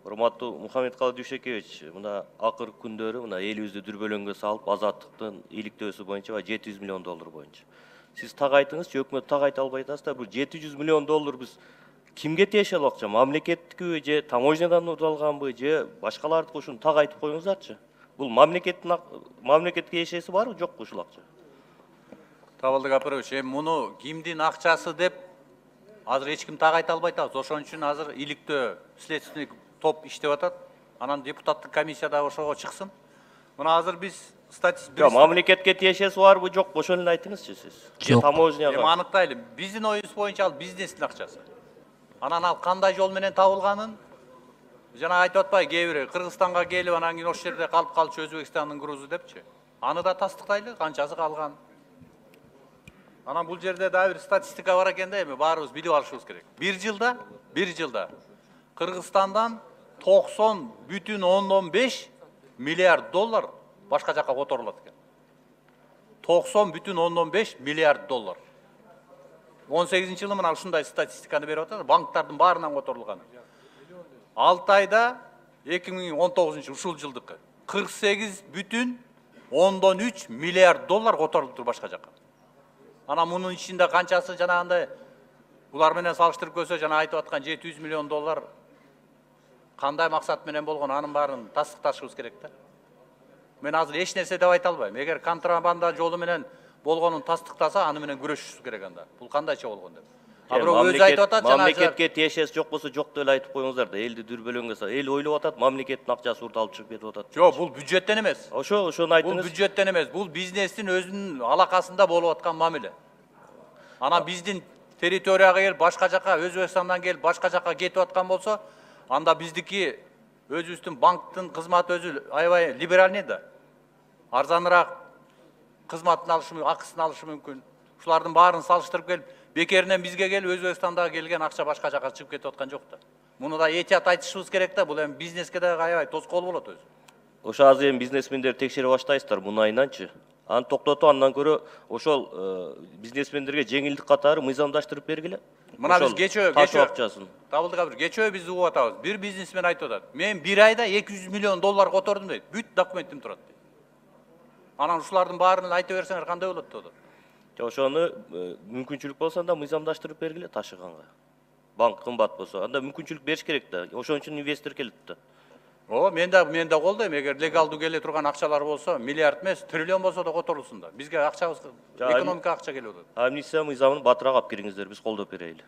Урматтуу Мухаммедкалый Дүйшекевич, мына акыркы күндөрү мына элибизди дүрбөлөңгө салып, азаттыктын иликтөөсү боюнча 700 миллион доллар боюнча. Сиз так айтыңызчы, өкмөт так айта албай атасыздар. Бул 700 миллион доллар биз кимге тиешелүү акча? Мамлекеттикиби же таможнядан алганбы же башкалардыкы? Ушуну так айтып коюңуздарчы. Бул мамлекетке эшеси барбы, жокпу ушул акча? Табылдык Апарович, муну кимдин акчасы деп азыр эч ким так айта албай атабыз. Ошон үчүн азыр иликтөө следственный топ иштеп атат. Анан депутаттык комиссия да ошого чыксын. Мына азыр биз статистика мамлекетке тиешеси барбы, жокпу? Ошону эле айтыңызчы сиз. Же таможняга? Эми аныктайлы. Биздин оюбуз боюнча ал бизнестин акчасы. Анан ал кандай жол менен табылганын жана айтып атпайбы, кээ бири Кыргызстанга келип анан кийин ошол жерде калып калчу Өзбекстандын грузу депчи. Аны да тастыктайлы, канчасы калган. Анан бул жерде дагы бир статистика бар экен да, эми баарыбыз билип алышыбыз керек. Бир жылда Кыргызстандан 90,5 миллиард доллар башка жака которулат экен. 90,5 миллиард доллар. 18-жылы мына ушундай статистиканы берип атат, банктардын баарынан которулган. 6 айда 2019 ушул жылдыкы 48,3 миллиард доллар которулуптур башка жака. Анан мунун ичинде канчасы жанагындай булар менен салыштырып көрсө, жана айтып аткан 700 миллион доллар кандай максат менен болгон, анын баарын тастыкташыбыз керек да. Мен азыр эч нерсе деп айта албайм. Эгер контрабанда жолу менен болгонун тастыктаса, аны менен күрөшүшүбүз керек анда. Бул кандайча болгон деп. А бирок өзү айтып атат, жана мамлекетке тиешеси жок болсо жок деп айтып коюңуздар да. Элди дүрбөлөңгө салып, эл ойлоп атат, мамлекеттин акчасы урталып чыгып кетип атат. Жок, бул бюджеттен эмес. Ошону айтыңыз. Бул бюджеттен эмес, бул бизнестин өзүнүн алакасында болуп аткан мамиле. Анан биздин территорияга келип, башка жака, Өзбекстандан келип, башка жака кетип аткан болсо, анда биздики өзүбүздүн банктын кызматы өзү аябай либеральный да. Арзаныраак кызматын алышы мүмкүн, акысын алышы мүмкүн. Ушулардын баарын салыштырып келип, бекеринен бизге келип, Өзбекстандагы келген акча башка жака чыгып кетип аткан жок да. Муну да этият айтышыбыз керек да, бул эми бизнеске да аябай тоскоол болот өзү. Ошо азыр эми бизнесмендерди текшере баштайсыздар мунайынанчы. Аны токтотуп, андан көрө ошол бизнесмендерге жеңилдик катары мыйзамдаштырып бергиле. Мына биз кечөө Табылдык бир кечөө биз угуп атабыз. Бир бизнесмен айтып атат: "Мен бир айда 200 миллион доллар котордум" дейт. Бүт документим турат дейт. Анан ушулардын баарын айта берсеңер кандай болот деп атат. Ошону мүмкүнчүлүк болсо анда мыйзамдаштырып бергиле ташыганга. Банк кымбат болсо, анда мүмкүнчүлүк бериш керек да. Ошон үчүн инвестор келет да. Мен да колдойм. Эгер легалдуу келе турган акчалар болсо, миллиард эмес, триллион болсо да которулсун да. Бизге акчабыз, экономикага акча келип атат. Амнистия мыйзамын батыраак алып кириңиздер, биз колдоп берели.